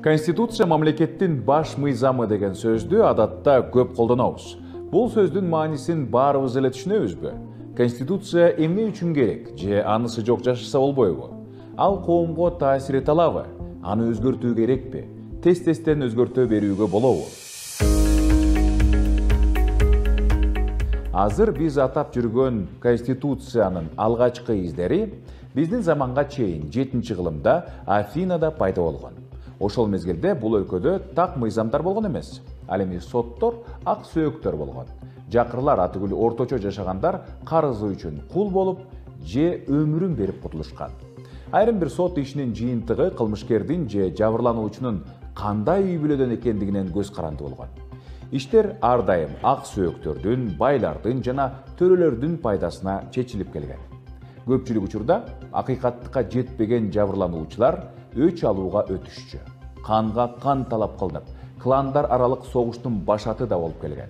Конституция мамлекеттин баш мыйзамы деген сөздү адатта көп колдонобуз. Бул сөздүн маанисин баарыбыз эле түшүнөбүзбү? Конституция эмне үчүн керек же анысы жок жашаса болбойбу? Ал коомго таасир эте алабы? Аны өзгөртүү керекпи? Тез-тезден өзгөртө берүүгө болобу? Азыр биз атап жүргөн Конституциянын алгачкы издери биздин заманга чейин 7-кылымда Афинада пайда болгон. Ошол мезгилде бул өлкөдө так мыйзамдар болгон эмес. Ал эми соттор ак сөөктөр болгон. Жакырлар атүгүл орточо жашагандар карызы үчүн кул болуп же өмүрүн берип кутулушкан. Айрым бир сот ишинин жыйынтыгы кылмышкердин же жабырлануучунун кандай үй бүлөдөн экендигинен көз каранды болгон. Иштер ар дайым ак сөөктөрдүн, байлардын жана төрөлөрдүн пайдасына чечилип келген. Көпчүлүк учурда акыйкаттыкка жетпеген жабырлануучулар өч алууга өтүшчү. Канга кан талап кылынып, кландар аралык согуштун башаты да болуп келген.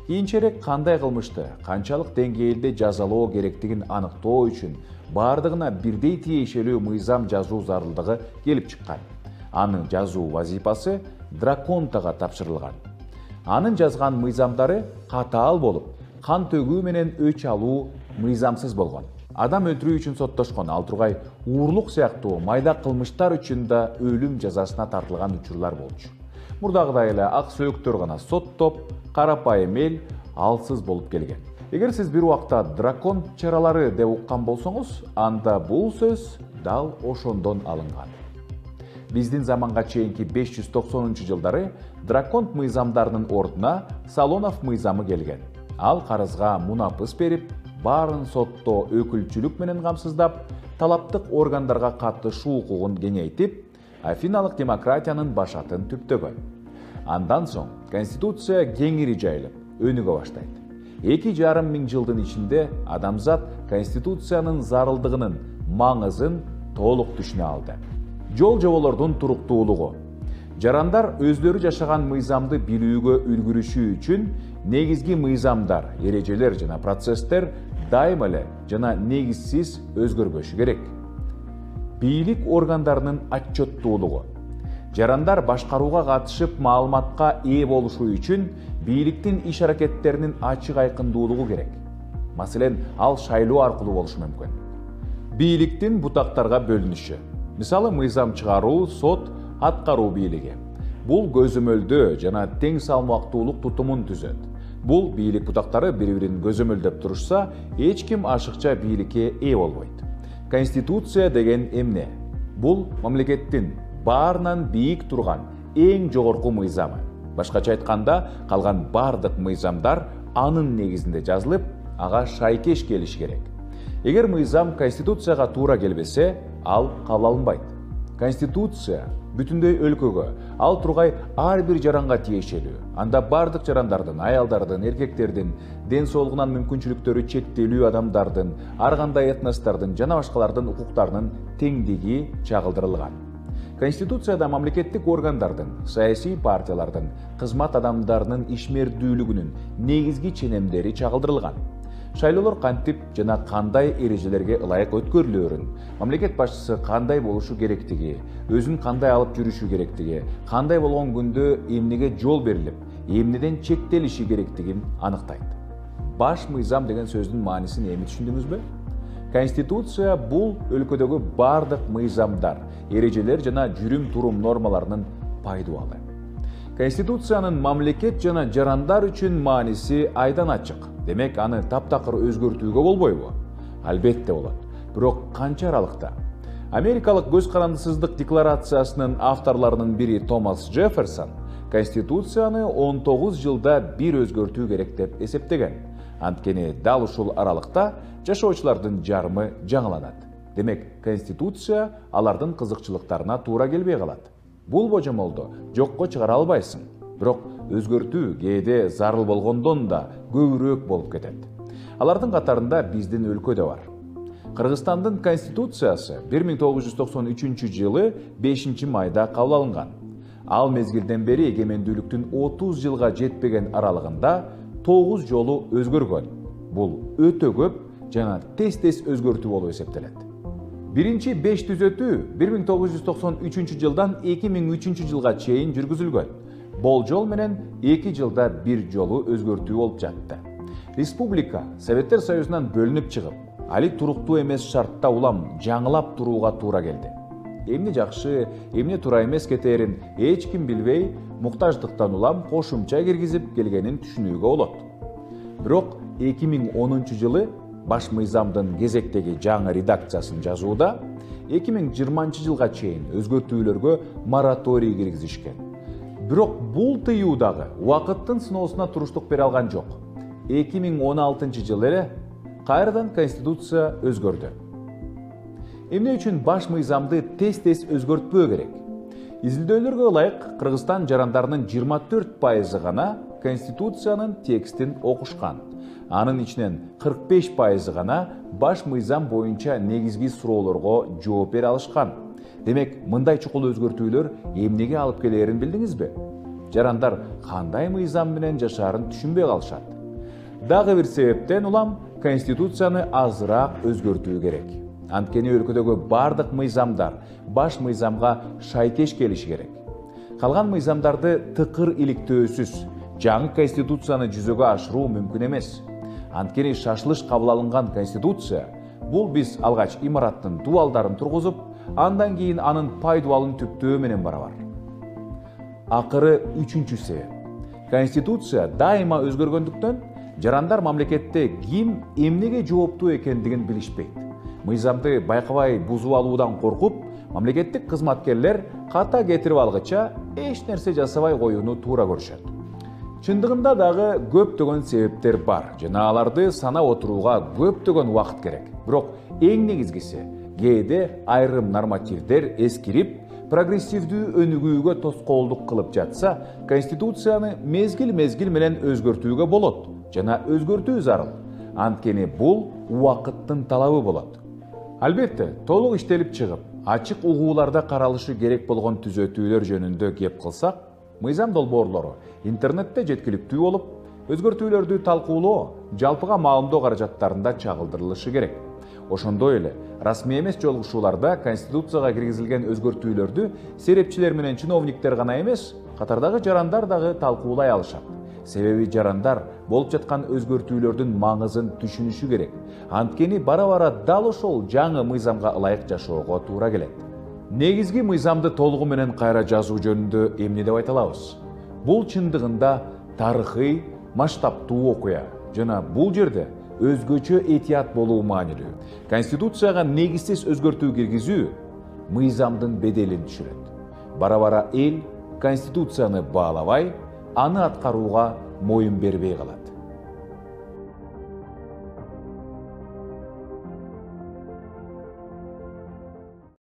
Кийинчерээк кандай кылмышты канчалык деңгээлде жазалоо керектигин аныктоо үчүн бардыгына бирдей тиешелүү мыйзам жазуу зарылдыгы келип чыккан. Анын жазуу вазифасы драконтага тапшырылган. Анын жазган мыйзамдары катаал болуп, кан төгүү менен өч алуу мыйзамсыз болгон. Адам өлтүрүү үчүн соттошкон, ал тургай уурлук сыяктуу майда кылмыштар үчүн да өлүм жазасына тартылган учурлар болчу. Мурдагыдай эле ак сөөктөр гана соттоп, карапайым эл алсыз болуп келген. Эгер сиз бир убакта дракон чаралары деп уккан болсоңуз, анда бул сөз дал ошондон алынган. Биздин заманга чейинки 590-жылдары драконт мыйзамдарынын ордуна Солонов мыйзамы келген. Ал карызга мунапыс берип, баарын сотто өкүлчүлүк менен камсыздап, талаптык органдарга катышуу укугун кеңейтип, афиналык демократиянын башатын түптөгөн. Андан соң Конституция кеңири жайылып, өнүгө баштайт. 2,5 миң жылдын ичинде адамзат Конституциянын зарылдыгынын маңызын толук түшүнө алды. Жол жоболордун туруктуулугу. Жарандар өздөрү жашаган мыйзамды билүүгө үлгүрүшүү үчүн негизги мыйзамдар, эрежелер жана процесстер дайыма эле жана негизсиз өзгөрбөшү керек. Бийлик органдарынын отчеттуулугу. Жарандар башкарууга катышып, маалыматка ээ болушу үчүн бийликтин иш аракеттеринин ачык айкындуулугу керек. Маселен, ал шайлоо аркылуу болушу мүмкүн. Бийликтин бутактарга бөлүнүшү. Мисалы, мыйзам чыгаруу, сот, аткаруу бийлиги. Бул көзөмөлдөө жана тең салмактуулук тутумун түзөт. Бул бийлик бутактары бири-бирин көзөмөлдөп турушса, эч ким ашыкча бийликке ээ болбойт. Конституция деген эмне? Бул мамлекеттин баарынан бийик турган эң жогорку мыйзамы. Башкача айтканда, калган бардык мыйзамдар анын негизинде жазылып, ага шайкеш келиши керек. Эгер мыйзам Конституцияга туура келбесе, ал кабыл алынбайт. Конституция бүтүндөй өлкөгө, ал тургай ар бир жаранга тиешелүү. Анда бардык жарандардын, аялдардын, эркектердин, ден соолугунан мүмкүнчүлүктөрү чектелүү адамдардын, ар кандай этностордун жана башкалардын укуктарынын теңдиги чагылдырылган. Конституцияда мамлекеттик органдардын, саясий партиялардын, кызмат адамдарынын ишмердүүлүгүнүн негизги ченемдери чагылдырылган. Шайлоолор кантип жана кандай эрежелерге ылайык өткөрүлөөрүн, мамлекет башчысы кандай болушу керектиги, өзүн кандай алып жүрүшү керектиги, кандай болгон күндө эмнеге жол берилип, эмнеден чектелиши керектигин аныктайт. Баш мыйзам деген сөздүн маанисин эми түшүндүңүзбү? Конституция бул өлкөдөгү бардык мыйзамдар, эрежелер жана жүрүм-турум нормаларынын пайдубалы. Конституциянын мамлекет жана жарандар үчүн мааниси айдан ачык. Демек, аны таптакыр өзгөртүүгө болбойбу? Албетте болот. Бирок канча аралыкта? Америкалык көз карандысыздык декларациясынын авторлорунун бири Томас Джефферсон Конституцияны 19 жылда бир өзгөртүү керек деп эсептеген. Анткени дал ушул аралыкта жашоочулардын жарымы жаңыланат. Демек, Конституция алардын кызыкчылыктарына туура келбей калат. Бул божомолду жокко чыгара албайсың. Бирок өзгөртүү кээде зарыл болгондон да көбүрөөк болуп кетет. Алардын катарында биздин өлкө да бар. Кыргызстандын Конституциясы 1993 жылы 5 майда кабыл алынган. Ал мезгилден бери эгемендүүлүктүн 30 жылга жетпеген аралыгында 9 жолу өзгөргөн. Бул өтө көп жана тез-тез өзгөртүү болуп эсептелет. Биринчи 5 түзөтүү 1993 жылдан 2003 жылга чейин жүргүзүлгөн. Болжол менен 2 жылда 1 жолу өзгөртүү болуп жатты. Республика Советтер Союзунан бөлүнүп чыгып, али туруктуу эмес шартта улам жаңылап турууга туура келди. Эмне жакшы, эмне туура эмес кетээрин эч ким билбей, муктаждыктан улам кошумча киргизип келгенин түшүнүүгө болот. Бирок 2010 жылы баш мыйзамдын кезектеги жаңы редакциясын жазууда 2020 жылга чейин өзгөртүүлөргө мораторий киргизишкен. Бирок бул тыюу дагы убакыттын сыноосуна туруштук бере алган жок. 2016 жылы эле кайрадан Конституция өзгөрдү. Эмне үчүн баш мыйзамды тез-тез өзгөртпөө керек? Изилдөөлөргө ылайык Кыргызстан жарандарынын 24% гана Конституциянын текстин окушкан. Анын ичинен 45% гана баш мыйзам боюнча негизги суроолорго жооп бере алышкан. Демек, мындай чукул өзгөртүүлөр эмнеге алып келерин билдиңизби? Жарандар кандай мыйзам менен жашаарын түшүнбөй калышат. Дагы бир себептен улам Конституцияны азыраак өзгөртүү керек. Анткени өлкөдөгү бардык мыйзамдар баш мыйзамга шайкеш келиши керек. Калган мыйзамдарды тыкыр иликтөөсүз жаңы Конституцияны жүзөгө ашыруу мүмкүн эмес. Анткени шашылыш кабыл алынган Конституция бул биз алгач имараттын дубалдарын тургузуп, андан кийин анын пайдубалын түптөө менен барабар. Акыры үчүнчү себеп. Конституция дайыма өзгөргөндүктөн жарандар мамлекетте ким эмнеге жооптуу экендигин билишпейт. Мыйзамды байкабай бузуп алуудан коркуп, мамлекеттик кызматкерлер ката кетирип алгыча эч нерсе жасабай коюуну туура көрүшөт. Чындыгында дагы көптөгөн себептер бар жана аларды санап отурууга көптөгөн убакыт керек. Бирок эң негизгиси кээде айрым нормативдер эскирип, прогрессивдүү өнүгүүгө тоскоолдук кылып жатса, Конституцияны мезгил менен өзгөртүүгө болот жана өзгөртүү зарыл. Анткени бул убакыттын талабы болот. Албетте, толук иштелип чыгып, ачык угууларда каралышы керек болгон түзөтүүлөр жөнүндө кеп кылсак, мыйзам долбоорлору интернетте жеткиликтүү болуп, өзгөртүүлөрдү талкуулоо жалпыга маалымдоо каражаттарында чагылдырылышы керек. Ошондой эле расмий эмес жолугушууларда Конституцияга киргизилген өзгөртүүлөрдү серепчилер менен чиновниктер гана эмес, катардагы жарандар дагы талкуулай алышат. Себеби жарандар болуп жаткан өзгөртүүлөрдүн маңызын түшүнүшү керек. Анткени бара-бара дал ошол жаңы мыйзамга ылайык жашоого туура келет. Негизги мыйзамды толугу менен кайра жазуу жөнүндө эмне деп айта алабыз? Бул чындыгында тарыхый, масштабтуу окуя жана бул жерде өзгөчө этият болуу маанилүү. Конституцияга негизсиз өзгөртүү киргизүү мыйзамдын беделин түшүрөт. Бара-бара эл Конституцияны баалабай, аны аткарууга моюн бербей калат.